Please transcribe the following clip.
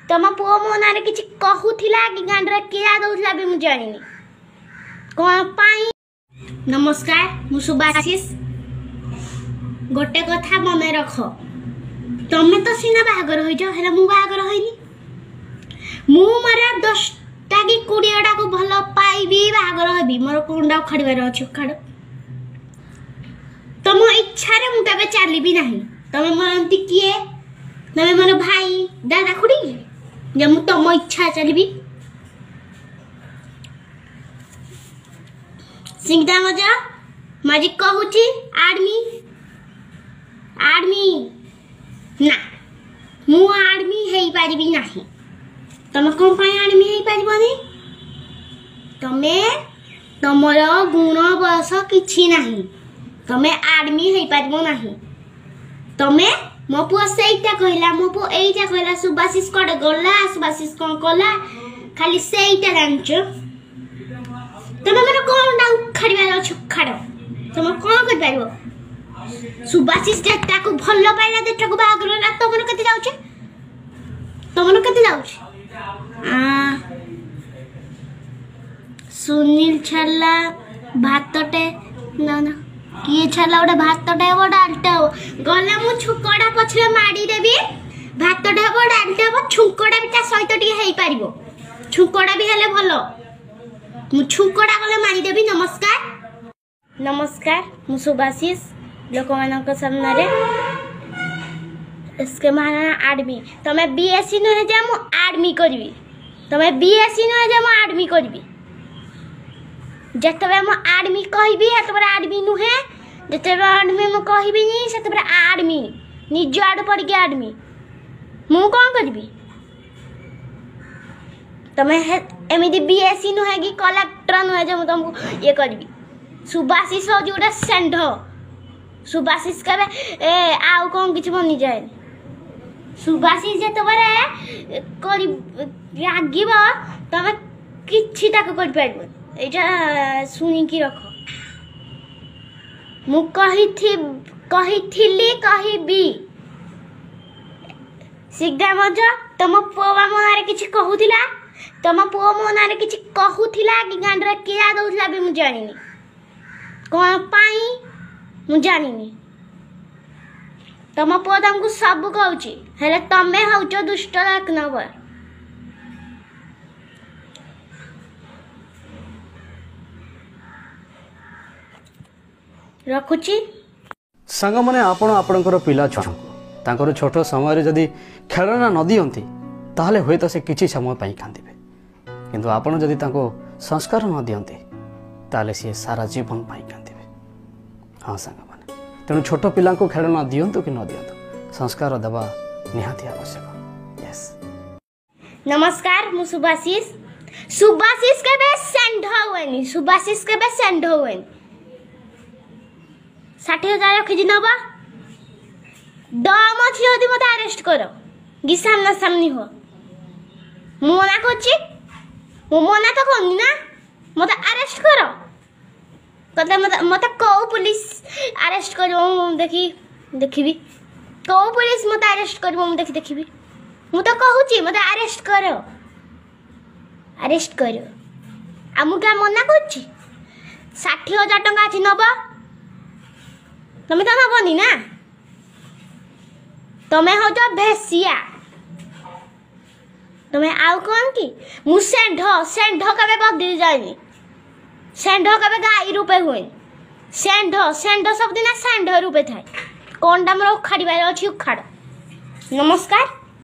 ତମ ପୁଅ ମୋ ନାଁରେ କିଛି କହୁଥିଲା କି ଗାଣ୍ଡରେ କିଳା ଦଉଥିଲା ବି ମୁଁ ଜାଣିନି କ'ଣ ପାଇଁ। ନମସ୍କାର, ମୁଁ ସୁଭାଶିଷ। ଗୋଟେ କଥା ମନେ ରଖ, ତମେ ତ ସିନା ବାହାଘର ହୋଇଛ, ହେଲେ ମୁଁ ବାହାଘର ହୋଇନି। ମୁଁ ମୋର 10ଟା କି 20ଟାକୁ ଭଲ ପାଇବି, ବାହାଘର ହେବି। ମୋର କଣଟା ଉଖାଡ଼ିବାର ଅଛି ଉଖାଡ଼। ତମ ଇଚ୍ଛାରେ ମୁଁ କେବେ ଚାଲିବି ନାହିଁ। ତମେ ମୋର ଏମିତି କିଏ? ତମେ ମୋର ଭାଇ ଦାଦା ଖୁଡ଼ି ଯେ ମୁଁ ତମ ଇଚ୍ଛା ଚାଲିବି? ସିଙ୍ଗଦା ମଜା ମାଜି କହୁଛି ଆର୍ମି ଆର୍ମି ନା, ମୁଁ ଆର୍ମି ହେଇପାରିବି ନାହିଁ। ତମେ କ'ଣ ପାଇଁ ଆର୍ମି ହେଇପାରିବନି? ତମେ ତମର ଗୁଣ ବୟସ କିଛି ନାହିଁ, ତମେ ଆର୍ମି ହେଇପାରିବ ନାହିଁ। ତମେ ମୋ ପୁଅ ସେଇଟା କହିଲା, ମୋ ପୁଅ ଏଇଟା କହିଲା, ସୁବାଶିଷ କୁଆଡ଼େ ଗଲା, ସୁବାଶିଷ କ'ଣ କଲା, ଖାଲି ସେଇଟା ଜାଣିଛ। ତମେ ମୋର କ'ଣଟା ଉଖାଡ଼ିବାର ଅଛି ଉଖାଡ଼। ତମେ କ'ଣ କରିପାରିବ? ସୁବାଶିଷ ଯେଟାକୁ ଭଲ ପାଇଲା, ଯେଟାକୁ ବାହାଘର ହେଲା, ତମର କେତେ ଯାଉଛି? ତମର କେତେ ଯାଉଛି? ସୁନୀଲ ଛାଡ଼ିଲା ଭାତଟେ, ନା ନା କିଏ ଛାଡ଼ିଲା ଗୋଟେ ଭାତଟେ ହବ ଡାଲିଟେ ହବ, ଗଲେ ମୁଁ ଛୁଙ୍କଟା ପଛରେ ମାଡ଼ିଦେବି। ଭାତଟେ ହବ ଡାଲିଟେ ହବ, ଛୁଙ୍କଟା ବି ତା ସହିତ ଟିକେ ହେଇପାରିବ, ଛୁଙ୍କଟା ବି ହେଲେ ଭଲ। ମୁଁ ଛୁଙ୍କଟା ଗଲେ ମାରିଦେବି। ନମସ୍କାର। ନମସ୍କାର, ମୁଁ ସୁଭାଶିଷ। ଲୋକମାନଙ୍କ ସାମ୍ନାରେ ଏସ୍କେ ମହାରଣା ଆର୍ମି। ତମେ ବିଏସ୍ସି ନୁହେଁ ଯେ ମୁଁ ଆର୍ମି କରିବି। ତମେ ବିଏସ୍ସି ନୁହେଁ ଯେ ମୁଁ ଆର୍ମି କରିବି। ଯେତେବେଳେ ମୁଁ ଆର୍ମି କହିବି ସେତେବେଳେ ଆର୍ମି ନୁହେଁ, ଯେତେବେଳେ ଆର୍ମି ମୁଁ କହିବିନି ସେତେବେଳେ ଆର୍ମି। ନିଜ ଆଡ଼ୁ ପଡ଼ିକି ଆର୍ମି। ମୁଁ କ'ଣ କରିବି? ତମେ ଏମିତି ବିଏସ୍ସି ନୁହେଁ କି କଲେକ୍ଟର ନୁହେଁ ଯେ ମୁଁ ତମକୁ ଇଏ କରିବି। ସୁଭାଶିଷ ହେଉଛି ଗୋଟେ ଷେଣ୍ଢ। ସୁଭାଶିଷ କେବେ ଏ ଆଉ କ'ଣ କିଛି ବନିଯାଏନି। ସୁଭାଶିଷ ଯେତେବେଳେ କରି ରାଗିବ ତମେ କିଛି ତାକୁ କରିପାରିବନି। ଏଇଟା ଶୁଣିକି ରଖ। ମୁଁ କହିଥିଲି କହିବି। ସିଧା ମଜ ତମ ପୁଅ ବା ମୋ ନାଁରେ କିଛି କହୁଥିଲା, ତମ ପୁଅ ମୋ ନାଁରେ କିଛି କହୁଥିଲା କି ଗାଣ୍ଡରେ କିଳା ଦଉଥିଲା ବି ମୁଁ ଜାଣିନି କ'ଣ ପାଇଁ, ମୁଁ ଜାଣିନି। ତମ ପୁଅ ତମକୁ ସବୁ କହୁଛି, ହେଲେ ତମେ ହଉଛ ଦୁଷ୍ଟ ଏକ ନମ୍ବର। ରଖୁଛି। ସାଙ୍ଗମାନେ, ଆପଣ ଆପଣଙ୍କର ପିଲା ଛୁଆଙ୍କୁ ତାଙ୍କର ଛୋଟ ସମୟରେ ଯଦି ଖେଳନା ନ ଦିଅନ୍ତି ତାହେଲେ ହୁଏତ ସେ କିଛି ସମୟ ପାଇଁ କାନ୍ଦିବେ, କିନ୍ତୁ ଆପଣ ଯଦି ତାଙ୍କୁ ସଂସ୍କାର ନ ଦିଅନ୍ତି ତାହେଲେ ସିଏ ସାରା ଜୀବନ ପାଇଁ କାନ୍ଦିବେ। ହଁ ସାଙ୍ଗମାନେ, ତେଣୁ ଛୋଟ ପିଲାଙ୍କୁ ଖେଳନା ଦିଅନ୍ତୁ କି ନ ଦିଅନ୍ତୁ, ସଂସ୍କାର ଦେବା ନିହାତି ଆବଶ୍ୟକ। ୟେସ୍। ନମସ୍କାର, ମୁଁ ସୁଭାଶିଷ। ସୁଭାଶିଷ କେବେ ଷେଣ୍ଢ ହୁଏନି। ସୁଭାଶିଷ କେବେ ଷେଣ୍ଢ ହୁଏନି। 60,000 ରଖିଛି, ନବ ଦମ ଅଛି ଯଦି ମୋତେ ଆରେଷ୍ଟ କର କି ସାମ୍ନା ସାମ୍ନି ହୁଅ। ମୁଁ ମନା କରୁଛି? ମୁଁ ମନା ତ କରୁନି ନା। ମୋତେ ଆରେଷ୍ଟ କର କଥା, ମୋତେ କେଉଁ ପୋଲିସ ଆରେଷ୍ଟ କରିବ ମୁଁ ଦେଖି ଦେଖିବି। କେଉଁ ପୋଲିସ ମୋତେ ଆରେଷ୍ଟ କରିବ ମୁଁ ଦେଖି ଦେଖିବି। ମୁଁ ତ କହୁଛି ମୋତେ ଆରେଷ୍ଟ କର, ଆରେଷ୍ଟ କର। ଆଉ ମୁଁ କାହା ମନା କରୁଛି? 60,000 ଟଙ୍କା ଅଛି, ନବ? ତମେ ତ ନବନି ନା। ତମେ ହଉଛ ଭେସିଆ। ତମେ ଆଉ କ'ଣ କି? ମୁଁ ଷେଣ୍ଢ, ଷେଣ୍ଢ କେବେ ବଦଳି ଯାଏନି। ଷେଣ୍ଢ କେବେ ଗାଈ ରୂପେ ହୁଏନି। ଷେଣ୍ଢ ଷେଣ୍ଢ ସବୁଦିନ ଷେଣ୍ଢ ରୂପେ ଥାଏ। କ'ଣଟା ମୋର ଉଖାଡ଼ିବାର ଅଛି ଉଖାଡ଼। ନମସ୍କାର।